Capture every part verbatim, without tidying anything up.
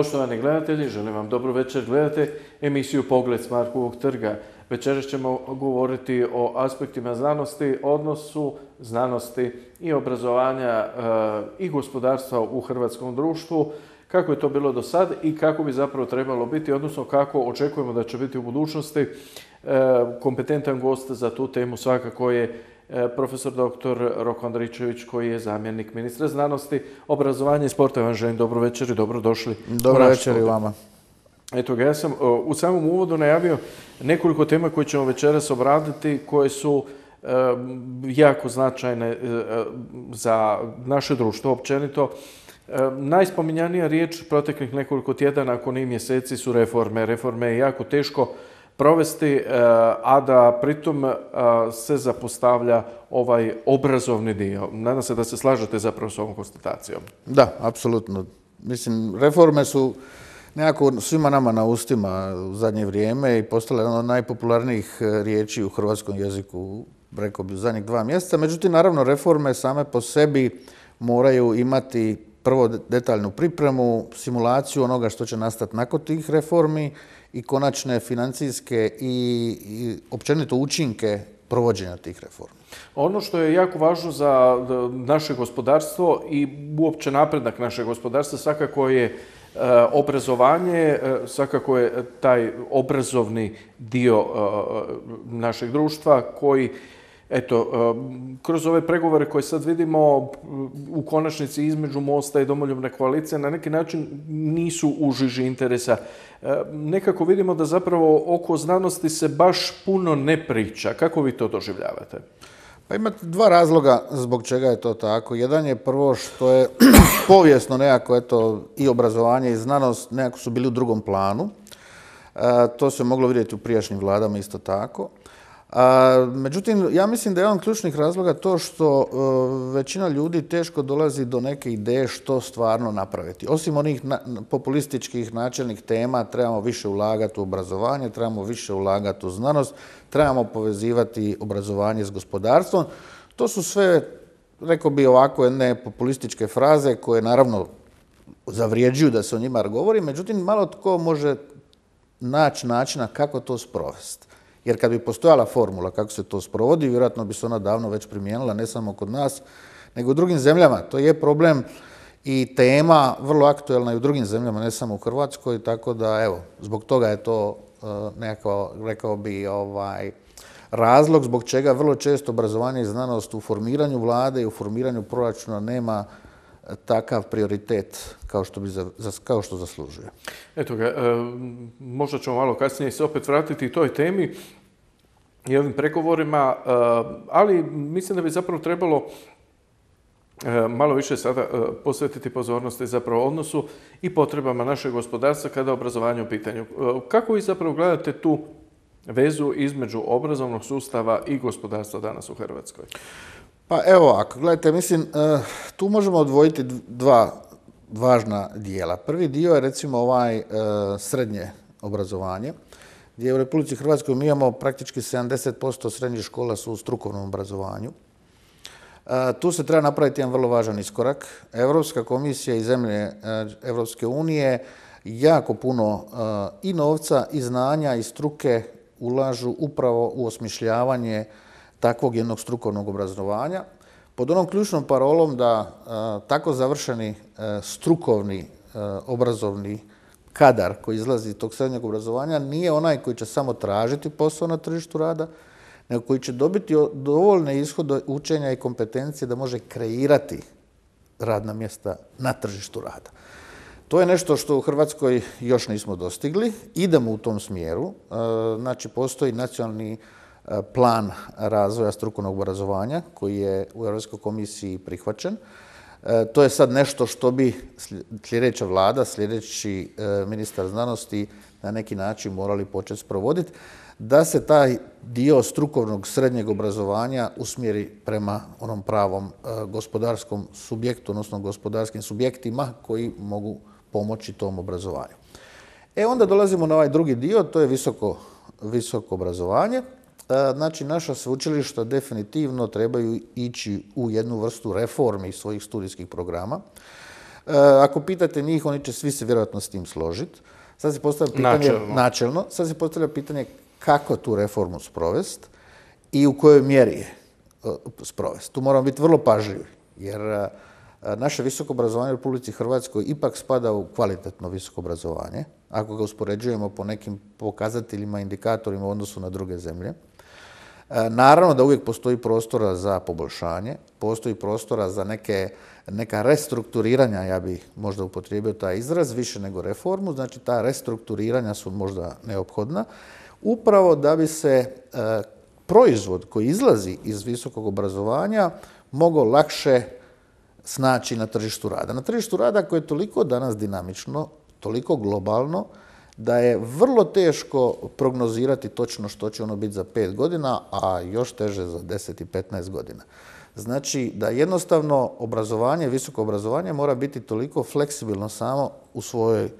Poštovani gledatelji, želim vam dobro večer. Gledate emisiju Pogled s Markovog trga. Večeras ćemo govoriti o aspektima znanosti, odnosu znanosti i obrazovanja e, i gospodarstva u hrvatskom društvu, kako je to bilo do sad i kako bi zapravo trebalo biti, odnosno kako očekujemo da će biti u budućnosti. E, kompetentan gost za tu temu svakako je profesor doktor Roko Andričević, koji je zamjenik ministra znanosti, obrazovanja i sporta. Vam želim dobro večer i dobrodošli. Dobro večer i vama. Eto ga, ja sam u samom uvodu najavio nekoliko tema koje ćemo večeras obraditi, koje su e, jako značajne e, za naše društvo općenito. E, najspominjanija riječ proteklih nekoliko tjedana, ako ne i mjeseci, su reforme. Reforme je jako teško provesti, a da pritom se zapostavlja ovaj obrazovni dio. Nadam se da se slažete zapravo s ovom konstatacijom. Da, apsolutno. Mislim, reforme su nekako svima nama na ustima u zadnje vrijeme i postale jedna od najpopularnijih riječi u hrvatskom jeziku, rekao bi, u zadnjih dva mjeseca. Međutim, naravno, reforme same po sebi moraju imati prvo detaljnu pripremu, simulaciju onoga što će nastati nakon tih reformi i konačne financijske i, i općenito učinke provođenja tih reformi. Ono što je jako važno za naše gospodarstvo i uopće napredak našeg gospodarstva svakako je e, obrazovanje, e, svakako je taj obrazovni dio e, našeg društva koji, eto, kroz ove pregovore koje sad vidimo u konačnici između Mosta i Domoljubne koalicije na neki način nisu u žiži interesa. Nekako vidimo da zapravo oko znanosti se baš puno ne priča. Kako vi to doživljavate? Pa imate dva razloga zbog čega je to tako. Jedan je prvo što je povijesno nekako, eto, i obrazovanje i znanost nekako su bili u drugom planu. E, to se moglo vidjeti u prijašnjim vladama isto tako. A, međutim, ja mislim da je jedan od ključnih razloga to što e, većina ljudi teško dolazi do neke ideje što stvarno napraviti. Osim onih na, populističkih načelnih tema, trebamo više ulagati u obrazovanje, trebamo više ulagati u znanost, trebamo povezivati obrazovanje s gospodarstvom. To su sve, rekao bi ovako, jedne populističke fraze koje naravno zavrijeđuju da se o njima govori, međutim, malo tko može naći načina kako to sprovesti. Jer kad bi postojala formula kako se to sprovodi, vjerojatno bi se ona davno već primijenila, ne samo kod nas, nego u drugim zemljama. To je problem i tema vrlo aktuelna i u drugim zemljama, ne samo u Hrvatskoj, tako da, evo, zbog toga je to uh, nekako, rekao bi, ovaj, razlog zbog čega vrlo često obrazovanje i znanost u formiranju vlade i u formiranju proračuna nema takav prioritet kao što, bi za, kao što zaslužuje. Eto ga, e, možda ćemo malo kasnije se opet vratiti toj temi i ovim pregovorima, e, ali mislim da bi zapravo trebalo e, malo više sada e, posvetiti pozornosti zapravo odnosu i potrebama našeg gospodarstva kada je obrazovanje u pitanju. E, kako vi zapravo gledate tu vezu između obrazovnog sustava i gospodarstva danas u Hrvatskoj? Pa evo, ako gledajte, mislim, tu možemo odvojiti dva važna dijela. Prvi dio je recimo ovaj srednje obrazovanje, gdje u Republici Hrvatskoj mi imamo praktički sedamdeset posto srednjih škola su u strukovnom obrazovanju. Tu se treba napraviti jedan vrlo važan iskorak. Europska komisija i zemlje Europske unije jako puno i novca, i znanja, i struke ulažu upravo u osmišljavanje takvog jednog strukovnog obrazovanja, pod onom ključnom parolom da a, tako završeni a, strukovni a, obrazovni kadar koji izlazi iz tog srednjeg obrazovanja nije onaj koji će samo tražiti posao na tržištu rada, nego koji će dobiti dovoljne ishode učenja i kompetencije da može kreirati radna mjesta na tržištu rada. To je nešto što u Hrvatskoj još nismo dostigli. Idemo u tom smjeru. A, znači, postoji nacionalni plan razvoja strukovnog obrazovanja koji je u Europskoj komisiji prihvaćen. E, to je sad nešto što bi sljedeća vlada, sljedeći e, ministar znanosti na neki način morali početi sprovoditi, da se taj dio strukovnog srednjeg obrazovanja usmjeri prema onom pravom e, gospodarskom subjektu, odnosno gospodarskim subjektima koji mogu pomoći tom obrazovanju. E onda dolazimo na ovaj drugi dio, to je visoko, visoko obrazovanje. Znači, naša sveučilišta definitivno trebaju ići u jednu vrstu reformi svojih studijskih programa. Ako pitate njih, oni će svi se vjerojatno s tim složiti. Sad se postavlja pitanje, načelno. načelno, sad se postavlja pitanje kako tu reformu sprovesti i u kojoj mjeri je sprovesti. Tu moramo biti vrlo pažljivi, jer naše visoko obrazovanje u Republici Hrvatskoj ipak spada u kvalitetno visoko obrazovanje, ako ga uspoređujemo po nekim pokazateljima, indikatorima u odnosu na druge zemlje. Naravno da uvijek postoji prostora za poboljšanje, postoji prostora za neke, neka restrukturiranja, ja bih možda upotrijebio taj izraz, više nego reformu, znači ta restrukturiranja su možda neophodna, upravo da bi se e, proizvod koji izlazi iz visokog obrazovanja mogao lakše snaći na tržištu rada. Na tržištu rada koje je toliko danas dinamično, toliko globalno, da je vrlo teško prognozirati točno što će ono biti za pet godina, a još teže za deset i petnaest godina. Znači da jednostavno obrazovanje, visoko obrazovanje mora biti toliko fleksibilno samo u svojoj,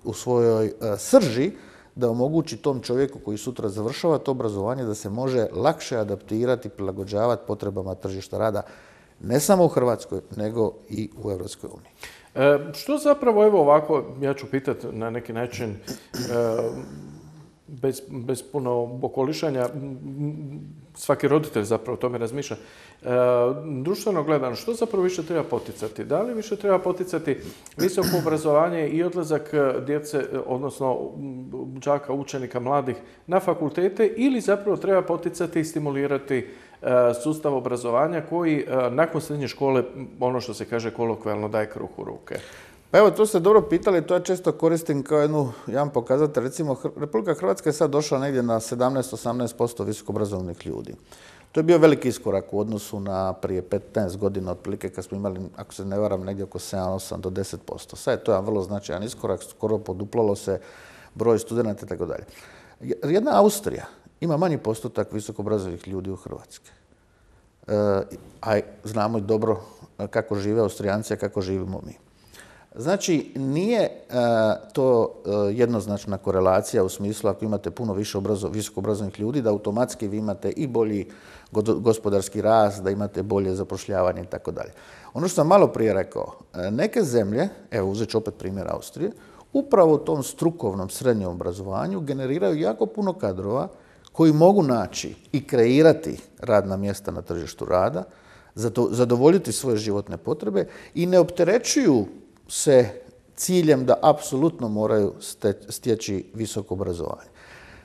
u svojoj uh, srži da omogući tom čovjeku koji sutra završava to obrazovanje da se može lakše adaptirati, prilagođavati potrebama tržišta rada, ne samo u Hrvatskoj, nego i u Europskoj uniji. E, što zapravo, evo ovako, ja ću pitati na neki način, e, bez, bez puno okolišanja, svaki roditelj zapravo o tome razmišlja. E, društveno gledano, što zapravo više treba poticati? Da li više treba poticati visoko obrazovanje i odlazak djece, odnosno đaka, učenika, mladih na fakultete, ili zapravo treba poticati i stimulirati sustav obrazovanja koji nakon srednje škole, ono što se kaže kolokvijalno, daje kruh u ruke? Pa evo, to ste dobro pitali, to ja često koristim kao jednu, jedan pokazatelj. Recimo, Republika Hrvatska je sad došla negdje na sedamnaest do osamnaest posto visokoobrazovanih ljudi. To je bio veliki iskorak u odnosu na prije petnaest godina, otprilike kad smo imali, ako se ne varam, negdje oko sedam, osam do deset posto. Sad je to jedan vrlo značajan iskorak, skoro poduplalo se broj studenata i tako dalje. Jedna Austrija ima manji postotak visokoobrazovanih ljudi u Hrvatskoj. E, a znamo i dobro kako žive Austrijanci, a kako živimo mi. Znači, nije e, to e, jednoznačna korelacija u smislu ako imate puno više obrazo, visokoobrazovanih ljudi, da automatski vi imate i bolji gospodarski rast, da imate bolje zapošljavanje i tako dalje. Ono što sam malo prije rekao, neke zemlje, evo uzet ću opet primjer Austrije, upravo u tom strukovnom srednjem obrazovanju generiraju jako puno kadrova koji mogu naći i kreirati radna mjesta na tržištu rada, zadovoljiti svoje životne potrebe i ne opterećuju se ciljem da apsolutno moraju stječi visoko obrazovanje.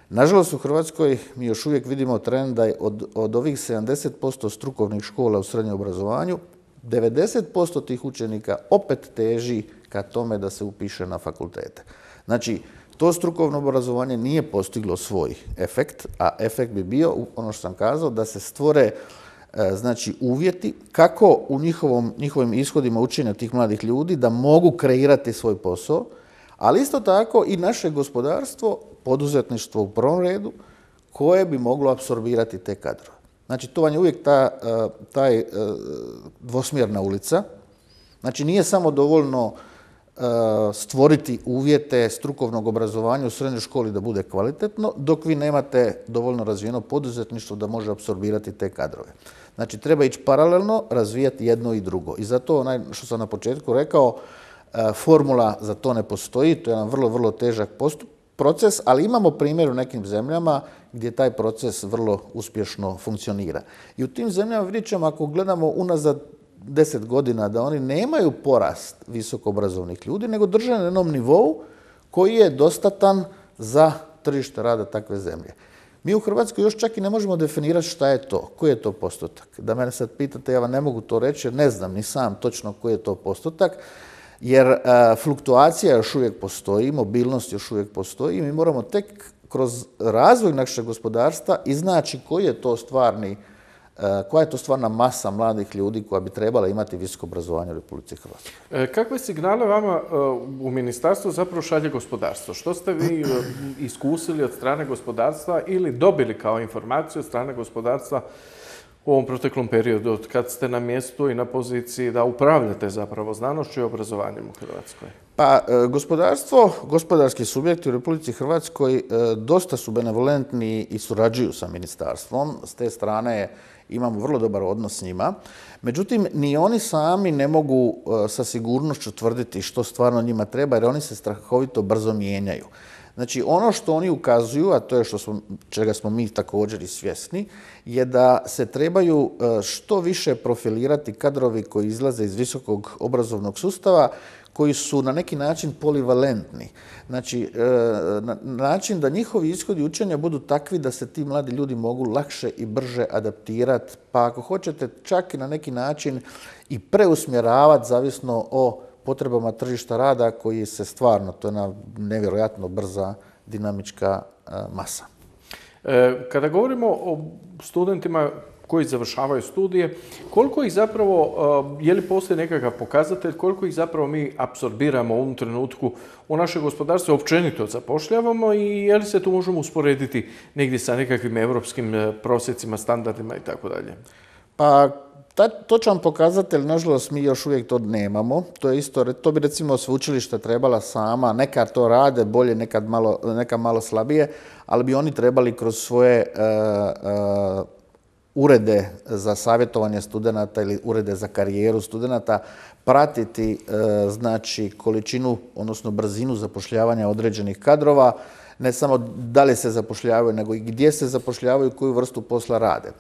Nažalost, u Hrvatskoj mi još uvijek vidimo trend da je od, od ovih sedamdeset posto strukovnih škola u srednjem obrazovanju, devedeset posto tih učenika opet teži ka tome da se upiše na fakultete. Znači, to strukovno obrazovanje nije postiglo svoj efekt, a efekt bi bio, ono što sam kazao, da se stvore znači uvjeti kako u njihovom, njihovim ishodima učenja tih mladih ljudi da mogu kreirati svoj posao, ali isto tako i naše gospodarstvo, poduzetništvo u prvom redu, koje bi moglo apsorbirati te kadrove. Znači, to vam je uvijek ta, taj dvosmjerna ulica. Znači, nije samo dovoljno stvoriti uvjete strukovnog obrazovanja u srednjoj školi da bude kvalitetno, dok vi nemate dovoljno razvijeno poduzetništvo da može apsorbirati te kadrove. Znači, treba ići paralelno, razvijati jedno i drugo. I zato, onaj što sam na početku rekao, formula za to ne postoji, to je jedan vrlo, vrlo težak postup, proces, ali imamo primjer u nekim zemljama gdje taj proces vrlo uspješno funkcionira. I u tim zemljama vidjet ćemo, ako gledamo unazad deset godina, da oni nemaju porast visoko obrazovnih ljudi, nego drže na jednom nivou koji je dostatan za tržište rada takve zemlje. Mi u Hrvatskoj još čak i ne možemo definirati šta je to, koji je to postotak. Da mene sad pitate, ja vam ne mogu to reći jer ne znam ni sam točno koji je to postotak, jer a, fluktuacija još uvijek postoji, mobilnost još uvijek postoji i mi moramo tek kroz razvoj našeg gospodarstva iznaći koji je to stvarni koja je to stvarna masa mladih ljudi koja bi trebala imati visoko obrazovanje u Republici Hrvatskoj. Kakve signale vama u ministarstvu zapravo šalje gospodarstvo? Što ste vi iskusili od strane gospodarstva ili dobili kao informaciju od strane gospodarstva u ovom proteklom periodu, od kad ste na mjestu i na poziciji da upravljate zapravo znanošću i obrazovanjem u Hrvatskoj? Pa, gospodarstvo, gospodarski subjekti u Republici Hrvatskoj dosta su benevolentni i surađuju sa ministarstvom. S te strane imamo vrlo dobar odnos s njima. Međutim, ni oni sami ne mogu sa sigurnošću tvrditi što stvarno njima treba, jer oni se strahovito brzo mijenjaju. Znači, ono što oni ukazuju, a to je što smo, čega smo mi također i svjesni, je da se trebaju što više profilirati kadrovi koji izlaze iz visokog obrazovnog sustava, koji su na neki način polivalentni. Znači, na način da njihovi ishodi učenja budu takvi da se ti mladi ljudi mogu lakše i brže adaptirati, pa ako hoćete čak i na neki način i preusmjeravati zavisno o potrebama tržišta rada koji se stvarno, to je jedna nevjerojatno brza dinamička masa. Kada govorimo o studentima koji završavaju studije, koliko ih zapravo, je li postoji nekakav pokazatelj, koliko ih zapravo mi apsorbiramo u ovom trenutku u naše gospodarstvo, općenito zapošljavamo i je li se tu možemo usporediti negdje sa nekakvim evropskim prosjecima, standardima i tako dalje? Pa, točan pokazatelj, nažalost, mi još uvijek to nemamo. To je isto, to bi recimo sveučilišta trebala sama, nekad to rade bolje, nekad malo, nekad malo slabije, ali bi oni trebali kroz svoje uh, uh, urede za savjetovanje studenata ili urede za karijeru studenata pratiti uh, znači količinu, odnosno brzinu zapošljavanja određenih kadrova, ne samo da li se zapošljavaju, nego i gdje se zapošljavaju, koju vrstu posla rade.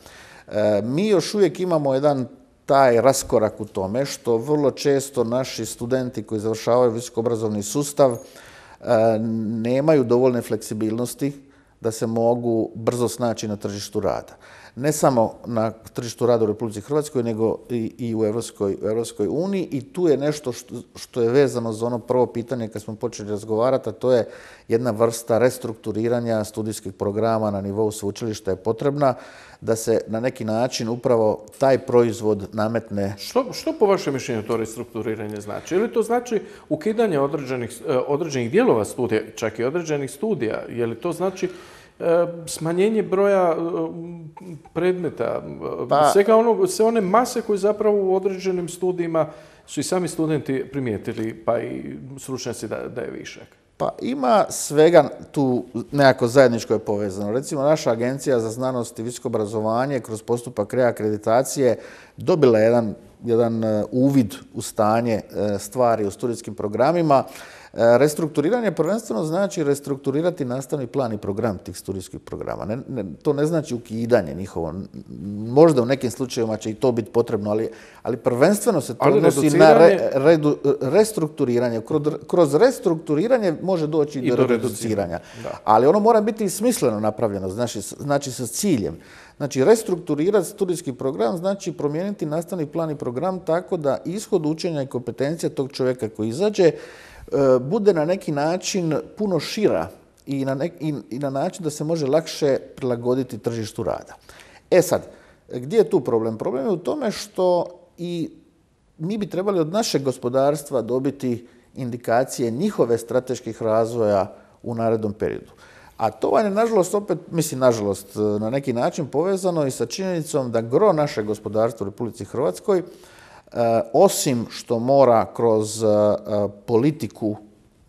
Mi još uvijek imamo jedan taj raskorak u tome što vrlo često naši studenti koji završavaju visokoobrazovni sustav nemaju dovoljne fleksibilnosti da se mogu brzo snaći na tržištu rada. Ne samo na tržištu rada u Republici Hrvatskoj, nego i, i u Europskoj, u Europskoj uniji. I tu je nešto što, što je vezano za ono prvo pitanje kad smo počeli razgovarati, a to je jedna vrsta restrukturiranja studijskih programa na nivou sveučilišta je potrebna da se na neki način upravo taj proizvod nametne. Što, što po vašem mišljenju to restrukturiranje znači? Ili to znači ukidanje određenih, određenih dijelova studija, čak i određenih studija? Je li to znači smanjenje broja predmeta, pa, svega onog, sve one mase koje zapravo u određenim studijima su i sami studenti primijetili, pa i stručnjaci da, da je višak? Pa ima svega tu nekako zajedničko je povezano. Recimo, naša Agencija za znanost i visoko obrazovanje kroz postupak reakreditacije dobila jedan, jedan uvid u stanje stvari u studijskim programima. Restrukturiranje prvenstveno znači restrukturirati nastavni plan i program tih studijskih programa. Ne, ne, to ne znači ukidanje njihovo. Možda u nekim slučajevima će i to biti potrebno, ali, ali prvenstveno se to ali odnosi na re, redu, restrukturiranje. Kroz, kroz restrukturiranje može doći i do, do reduciranja. Ali ono mora biti smisleno napravljeno, znači, znači sa ciljem. Znači, restrukturirati studijski program znači promijeniti nastavni plan i program tako da ishod učenja i kompetencija tog čovjeka koji izađe bude na neki način puno šira i na, nek, i, i na način da se može lakše prilagoditi tržištu rada. E sad, gdje je tu problem? Problem je u tome što i mi bi trebali od našeg gospodarstva dobiti indikacije njihove strateških razvoja u narednom periodu. A to vam je, nažalost, opet, mislim, nažalost, na neki način povezano i sa činjenicom da gro našeg gospodarstva u Republici Hrvatskoj osim što mora kroz politiku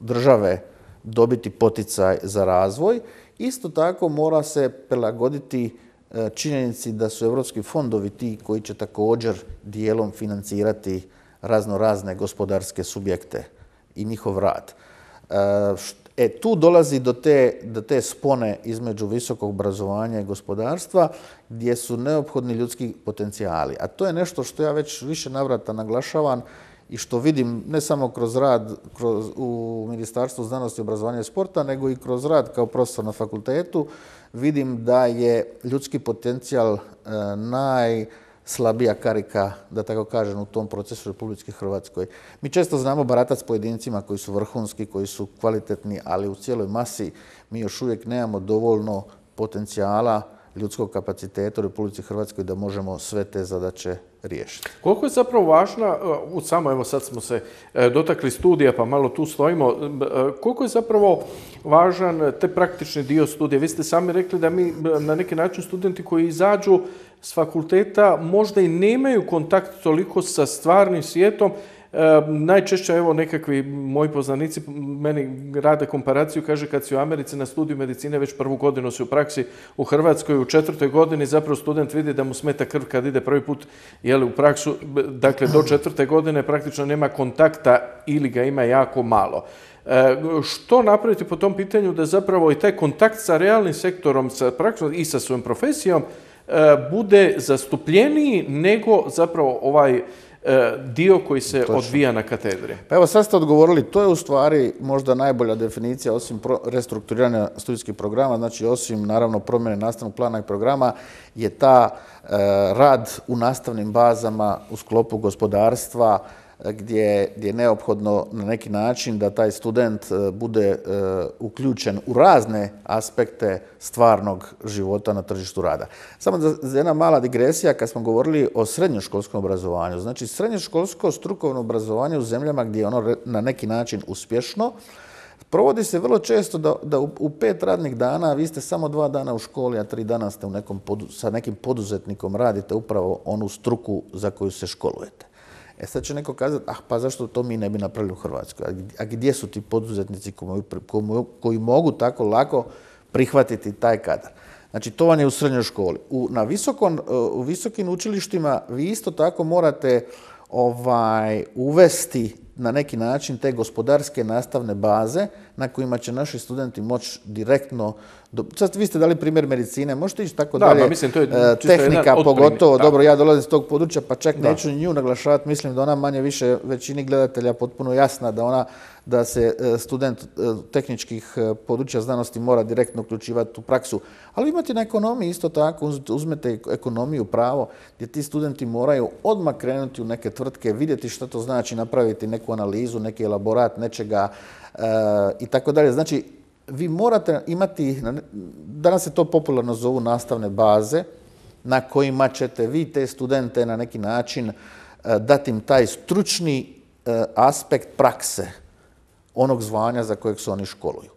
države dobiti poticaj za razvoj, isto tako mora se prilagoditi činjenici da su evropski fondovi ti koji će također dijelom financirati razno razne gospodarske subjekte i njihov rad. E, tu dolazi do te, do te spone između visokog obrazovanja i gospodarstva gdje su neophodni ljudski potencijali. A to je nešto što ja već više navrata naglašavam i što vidim ne samo kroz rad kroz, u Ministarstvu znanosti, obrazovanja i sporta, nego i kroz rad kao profesor na fakultetu. Vidim da je ljudski potencijal e, naj slabija karika, da tako kažem, u tom procesu u Republici Hrvatskoj. Mi često znamo baratati s pojedincima koji su vrhunski, koji su kvalitetni, ali u cijeloj masi mi još uvijek nemamo dovoljno potencijala ljudskog kapaciteta u Republici Hrvatskoj da možemo sve te zadaće riješiti. Koliko je zapravo važna, u samo evo sad smo se dotakli studija pa malo tu stojimo, koliko je zapravo važan te praktični dio studija? Vi ste sami rekli da mi na neki način studenti koji izađu s fakulteta možda i nemaju kontakt toliko sa stvarnim svijetom. E, najčešće, evo, nekakvi moji poznanici meni rade komparaciju, kaže kad si u Americi na studiju medicine, već prvu godinu si u praksi u Hrvatskoj, u četvrtoj godini zapravo student vidi da mu smeta krv kad ide prvi put jeli, u praksu, dakle do četvrte godine praktično nema kontakta ili ga ima jako malo. E, što napraviti po tom pitanju da zapravo i taj kontakt sa realnim sektorom, sa praksom i sa svojom profesijom e, bude zastupljeniji nego zapravo ovaj dio koji se Točno. odvija na katedri? Pa evo sad ste odgovorili, to je u stvari možda najbolja definicija osim pro, restrukturiranja studijskih programa, znači osim naravno promjene nastavnog plana i programa, je ta e, rad u nastavnim bazama u sklopu gospodarstva gdje, gdje je neophodno na neki način da taj student bude e, uključen u razne aspekte stvarnog života na tržištu rada. Samo za jedna mala digresija kad smo govorili o srednjoškolskom obrazovanju. Znači srednjoškolsko strukovno obrazovanje u zemljama gdje je ono na neki način uspješno, provodi se vrlo često da, da u, u pet radnih dana vi ste samo dva dana u školi, a tri dana ste u nekom podu, sa nekim poduzetnikom radite upravo onu struku za koju se školujete. E sad će neko kazati, ah pa zašto to mi ne bi napravili u Hrvatskoj? A gdje su ti poduzetnici koji, koji mogu tako lako prihvatiti taj kadar? Znači to vam je u srednjoj školi. U, na visokon, u visokim učilištima vi isto tako morate ovaj, uvesti na neki način te gospodarske nastavne baze na kojima će naši studenti moći direktno... Do... Sad vi ste dali primjer medicine, možete ići tako da, dalje. Mislim, to je tehnika pogotovo, da. Dobro, ja dolazim iz tog područja, pa čak da. neću nju naglašavati, mislim da ona manje više većini gledatelja potpuno jasna, da ona da se student tehničkih područja znanosti mora direktno uključivati u praksu. Ali imate na ekonomiji isto tako, uzmete ekonomiju, pravo, gdje ti studenti moraju odmah krenuti u neke tvrtke, vidjeti što to znači, napraviti neku analizu, neki elaborat, nečega e, i tako dalje. Znači, vi morate imati, danas se to popularno zovu nastavne baze, na kojima ćete vi te studente na neki način dati im taj stručni aspekt prakse onog zvanja za kojeg se oni školuju.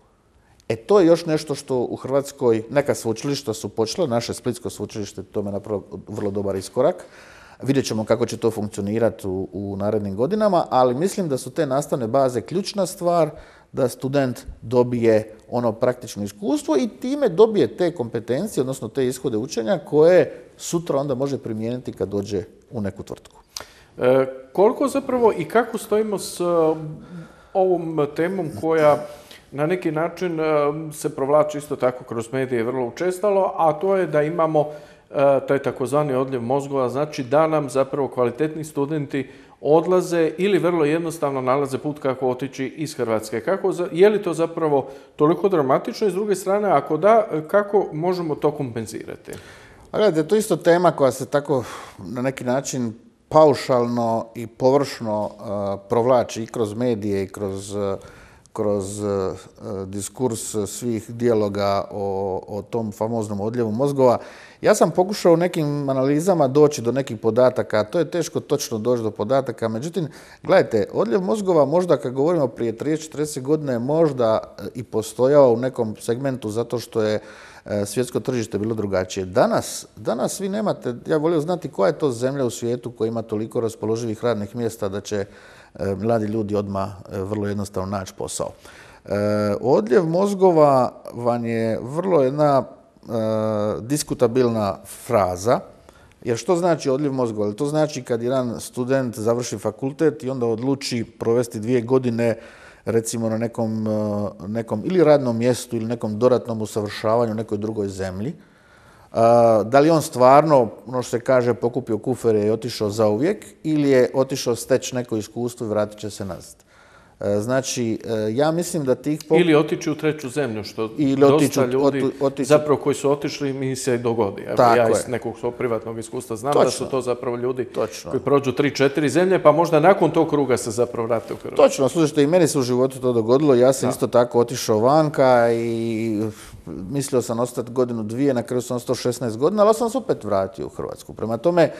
E to je još nešto što u Hrvatskoj, neka sveučilišta su počela, naše Splitsko sveučilište tome napravilo vrlo dobar iskorak. Vidjet ćemo kako će to funkcionirati u, u narednim godinama, ali mislim da su te nastavne baze ključna stvar da student dobije ono praktično iskustvo i time dobije te kompetencije, odnosno te ishode učenja koje sutra onda može primijeniti kad dođe u neku tvrtku. E, koliko zapravo i kako stojimo s uh, ovom temom koja na neki način uh, se provlači isto tako kroz medije vrlo učestalo, a to je da imamo uh, taj takozvani odljev mozgova, znači da nam zapravo kvalitetni studenti odlaze ili vrlo jednostavno nalaze put kako otići iz Hrvatske. Kako, je li to zapravo toliko dramatično i s druge strane, ako da, kako možemo to kompenzirati? A gledajte, to je isto tema koja se tako na neki način paušalno i površno uh, provlači i kroz medije i kroz, uh, kroz uh, diskurs svih dijaloga o, o tom famoznom odljevu mozgova. Ja sam pokušao u nekim analizama doći do nekih podataka, to je teško točno doći do podataka, međutim, gledajte, odljev mozgova možda kad govorimo prije trideset četrdeset godine možda i postojao u nekom segmentu zato što je svjetsko tržište bilo drugačije. Danas, danas vi nemate, ja volio znati koja je to zemlja u svijetu koja ima toliko raspoloživih radnih mjesta da će mladi ljudi odmah vrlo jednostavno naći posao. Odljev mozgova vam je vrlo jedna diskutabilna fraza, jer što znači odljev mozgova? To znači kad jedan student završi fakultet i onda odluči provesti dvije godine recimo na nekom, nekom ili radnom mjestu ili nekom dodatnom usavršavanju u nekoj drugoj zemlji. Da li on stvarno, ono što se kaže, pokupio kufere i otišao zauvijek ili je otišao steći neko iskustvo i vratit će se nazad. Znači, ja mislim da tih... Pop... Ili otići u treću zemlju, što ili dosta otiču, ljudi otiču... zapravo koji su otišli mi se dogodi. Evo, ja iz nekog svog privatnog iskustva znam Točno. da su to zapravo ljudi Točno. koji prođu tri, četiri zemlje, pa možda nakon tog kruga se zapravo vrate u Hrvatsku. Točno, slušajte, i meni se u životu to dogodilo. Ja sam da. isto tako otišao vanka i mislio sam ostati godinu, dvije, na kraju sam ostao šesnaest godina, ali sam se opet vratio u Hrvatsku. Prema tome,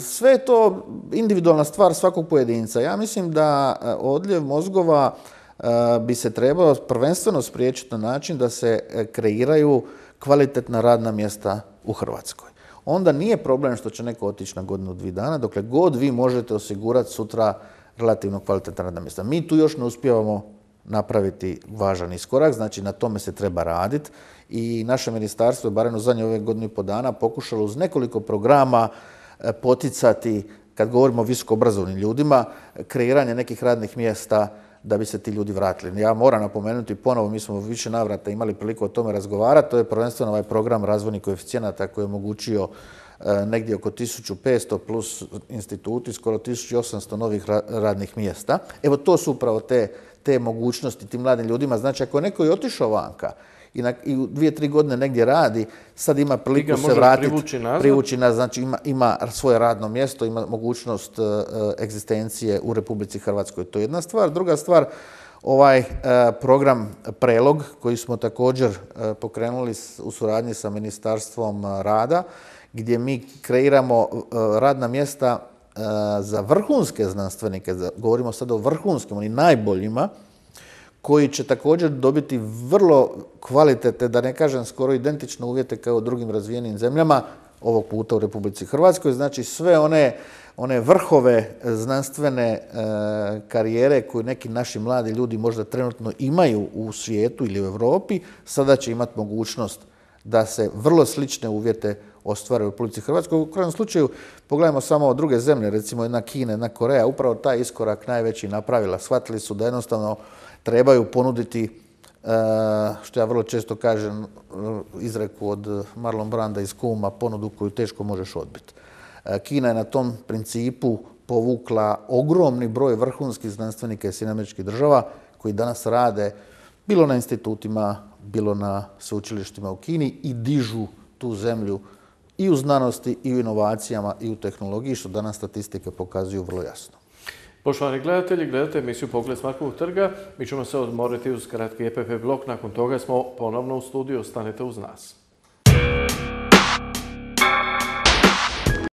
sve je to individualna stvar svakog pojedinca. Ja mislim da odljev mozgova bi se trebao prvenstveno spriječiti na način da se kreiraju kvalitetna radna mjesta u Hrvatskoj. Onda nije problem što će neko otići na godinu, dvije dana, dokle god vi možete osigurati sutra relativno kvalitetna radna mjesta. Mi tu još ne uspijevamo napraviti važan iskorak, znači na tome se treba raditi i naše ministarstvo je barem u zadnje ove godinu i po dana pokušalo uz nekoliko programa poticati, kad govorimo o visokoobrazovnim ljudima, kreiranje nekih radnih mjesta da bi se ti ljudi vratili. Ja moram napomenuti ponovo, mi smo u više navrata imali priliku o tome razgovarati, to je prvenstveno ovaj program razvojnih koeficijenata koji je omogućio negdje oko tisuću petsto plus instituti, skoro tisuću osamsto novih radnih mjesta. Evo to su upravo te, te mogućnosti tim mladim ljudima. Znači ako je neko i otišao vanka i, na, i u dvije, tri godine negdje radi, sad ima priliku se vratiti, privući nazad, privući nazad, znači ima, ima svoje radno mjesto, ima mogućnost uh, egzistencije u Republici Hrvatskoj. To je jedna stvar. Druga stvar, ovaj uh, program Prelog koji smo također uh, pokrenuli u suradnji sa Ministarstvom rada, gdje mi kreiramo uh, radna mjesta uh, za vrhunske znanstvenike, za, govorimo sad o vrhunskim, oni najboljima, koji će također dobiti vrlo kvalitetne, da ne kažem skoro identične uvjete kao u drugim razvijenim zemljama, ovog puta u Republici Hrvatskoj. Znači sve one, one vrhove znanstvene e, karijere koje neki naši mladi ljudi možda trenutno imaju u svijetu ili u Europi, sada će imati mogućnost da se vrlo slične uvjete ostvare u Republici Hrvatskoj. U krajnjem slučaju, pogledajmo samo druge zemlje, recimo jedna Kina, jedna Koreja, upravo taj iskorak najveći napravila. Shvatili su da jednostavno trebaju ponuditi, što ja vrlo često kažem, izreku od Marlon Branda iz Kuma, ponudu koju teško možeš odbiti. Kina je na tom principu povukla ogromni broj vrhunskih znanstvenika iz Sjedinjenih Američkih Država koji danas rade bilo na institutima, bilo na sveučilištima u Kini i dižu tu zemlju i u znanosti, i u inovacijama, i u tehnologiji, što danas statistike pokazuju vrlo jasno. Poštovani gledatelji, gledate emisiju Pogled s Markovog trga. Mi ćemo se odmoriti uz kratki E P P blok. Nakon toga smo ponovno u studiju. Ostanite uz nas.